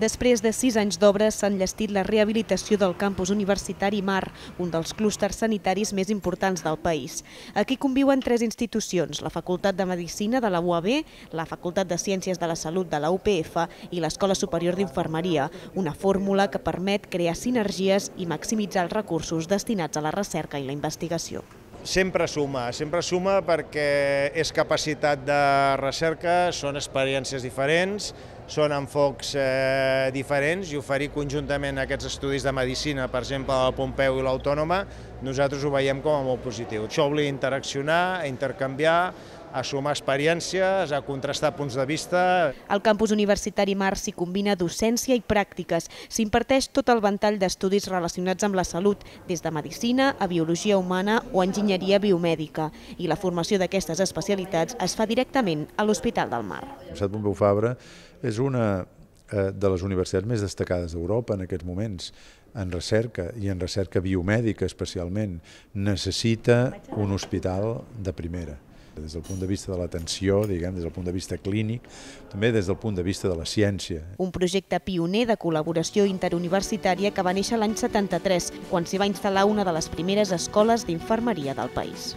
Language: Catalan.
Després de 6 anys d'obres s'ha enllestit la rehabilitació del campus universitari Mar, un dels clústers sanitaris més importants del país. Aquí conviuen 3 institucions, la Facultat de Medicina de la UAB, la Facultat de Ciències de la Salut de la UPF i l'Escola Superior d'Infermeria, una fórmula que permet crear sinergies i maximitzar els recursos destinats a la recerca i la investigació. Sempre suma perquè és capacitat de recerca, són experiències diferents, són enfocs diferents i oferir conjuntament aquests estudis de medicina, per exemple, al Pompeu i l'Autònoma, nosaltres ho veiem com a molt positiu. Això obliga a interaccionar, a intercanviar, a sumar experiències, a contrastar punts de vista. Al campus universitari Mar s'hi combina docència i pràctiques. S'imparteix tot el ventall d'estudis relacionats amb la salut, des de medicina a biologia humana o enginyeria biomèdica. I la formació d'aquestes especialitats es fa directament a l'Hospital del Mar. La Universitat Pompeu Fabra és una de les universitats més destacades d'Europa en aquests moments en recerca i en recerca biomèdica especialment. Necessita un hospital de primera. Des del punt de vista de l'atenció, des del punt de vista clínic, també des del punt de vista de la ciència. Un projecte pioner de col·laboració interuniversitària que va néixer l'any 73, quan s'hi va instal·lar una de les primeres escoles d'infermeria del país.